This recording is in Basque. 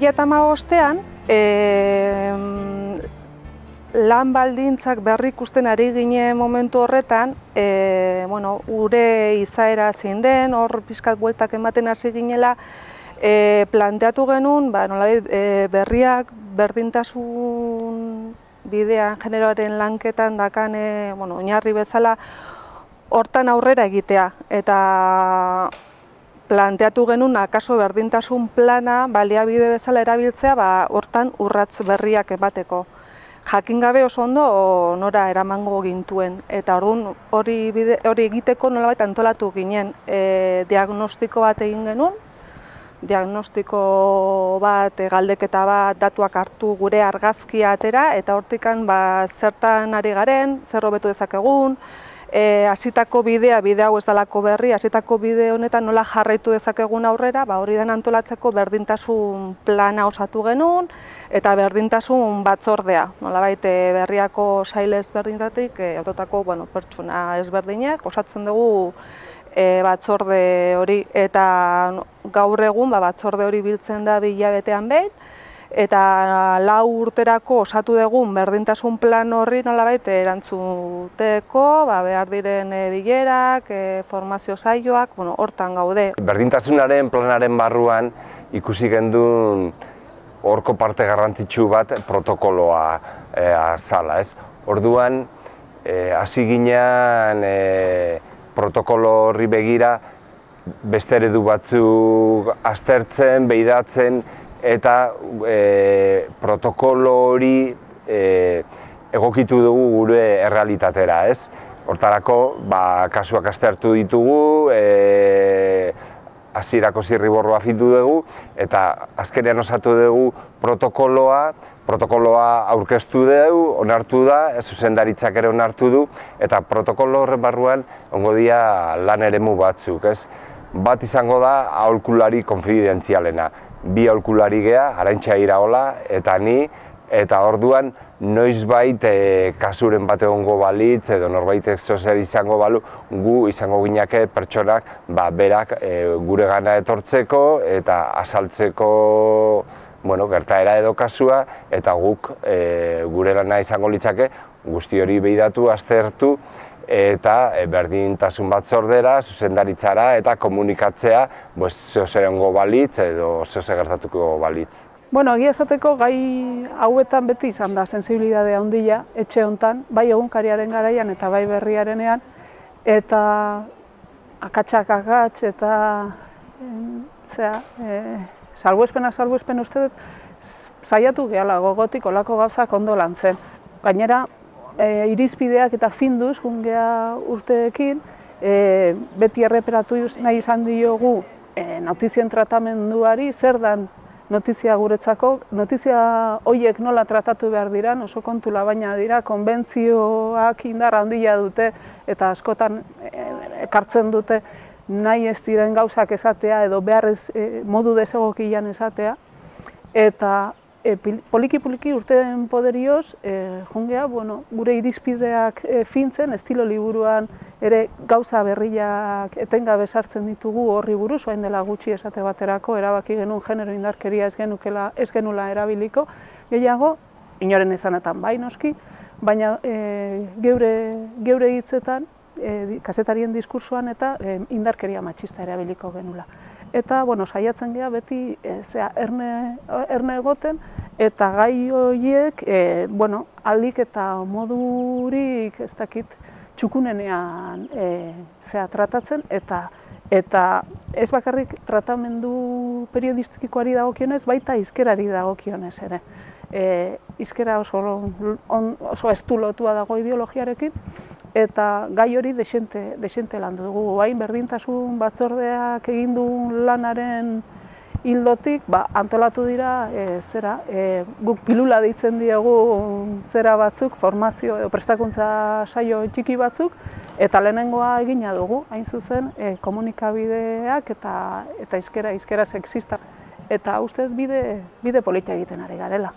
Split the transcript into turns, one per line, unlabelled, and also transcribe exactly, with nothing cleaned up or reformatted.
mila hamabostean lan baldintzak berrikusten ari ginen momentu horretan, e, bueno, gure izaera zein den, hor pixkat bueltak ematen hasi ginela, e, planteatu genuen, ba, nolabait, e, berriak berdintasun bidean generoaren lanketan dakan, e, bueno, oinarri bezala, hortan aurrera egitea. Eta planteatu genuen, akaso berdintasun plana baliabide bezala erabiltzea, ba, hortan urrats berriak emateko. Jakin gabe oso ondo nora eramango gintuen, eta orduan hori hori egiteko nolabait antolatu ginen. E, diagnostiko bat egin genuen, diagnostiko bat, galdeketa bat, datuak hartu gure argazkia atera, eta hortikan ba, zertan ari garen, zer hobetu dezakegun, e, hasitako bidea, bide hau ez dalako berri, hasitako bide honetan nola jarraitu dezakegun aurrera, ba, hori den antolatzeko berdintasun plana osatu genuen, eta berdintasun batzordea, nolabait berriako sail ezberdinetatik hautotako bueno, pertsona ezberdinak osatzen dugu e, batzorde hori, eta gaur egun ba, batzorde hori biltzen da bi hilabetean behin, eta lau urterako osatu dugun berdintasun plan horri nolabait erantzuteko, ba, behar diren e, bilerak, e, formazio saioak, bueno, hortan gaude.
Berdintasunaren planaren barruan ikusi gendun horko parte garrantzitsu bat protokoloa e, azala, ez? Orduan, hasi e, ginean e, protokolo horri begira beste eredu batzuk aztertzen, behidatzen, eta e, protokolo hori e, egokitu dugu gure errealitatera, ez? Hortarako, ba, kasuak aztertu ditugu, e, hasierako zirriborroa fitu dugu, eta azkenean osatu dugu protokoloa, protokoloa aurkeztu dugu, onartu da, zuzendaritzak ere onartu du, eta protokolo horren barruan ongo dira lan eremu batzuk, ez? Bat izango da aholkulari konfidentzialena. Bi aholkulari gea, Arantxa Iraola eta ni, eta orduan noizbait e, kasuren bat egongo balitz edo norbaitek zozer izango balu, gu izango ginake pertsonak ba, berak e, gure gana etortzeko eta azaltzeko bueno, gertaera edo kasua, eta guk e, gure lana izango litzake guzti hori behidatu, aztertu, eta e, berdintasun batzordera, zuzendaritzara eta komunikatzea pues, zeozer egongo balitz edo zeozer gertatuko balitz.
Bueno, egia esateko gai hauetan beti izan da sensibilidadea handia etxe hontan, bai egunkariaren garaian eta bai berriarenean, eta akatsak akats eta zera, e, salbuespena salbuespen uste dut saiatu gehala gogotik olako gauzak ondo lantzen. Gainera, e, irizpideak eta finduz gungea urteekin, e, beti erreperatu nahi izan diogu e, notizien tratamenduari, zer dan notizia guretzako, notizia horiek nola tratatu behar dira, oso kontula baina dira, konbentzioak indar handia dute eta askotan ekartzen dute nahi ez diren gauzak esatea edo beharrez e, modu desegokian esatea. Eta e, poliki-poliki urteen poderioz, e, jungea, bueno, gure irizpideak e, fintzen, estilo liburuan ere gauza berriak etengabe sartzen ditugu horri buruz, orain dela gutxi esate baterako, erabaki genuen genero indarkeria ez genukela, ez genula erabiliko, gehiago, inoren esanetan bai noski, baina e, geure, geure hitzetan, e, kazetarien diskursoan eta e, indarkeria matxista erabiliko genula. Eta, bueno, saiatzen gea beti e, zera, erne, erne egoten, eta gai horiek, e, bueno, alik eta modurik ez dakit, txukunenean e, zera, tratatzen, eta eta ez bakarrik tratamendu periodistikoari dagokionez, baita hizkerari dagokionez ere. E, hizkera oso, on, oso estulotua dago ideologiarekin, eta gai hori desente, desente landu dugu. Bain berdintasun batzordeak egin duen lanaren hildotik, ba, antolatu dira, e, zera, e, guk pilula deitzen diegu zera batzuk, formazio edo prestakuntza saio txiki batzuk, eta lehenengoa egina dugu, hain zuzen, e, komunikabideak eta eta hizkera, hizkera sexista. Eta ustez bide, bide politia egiten ari garela.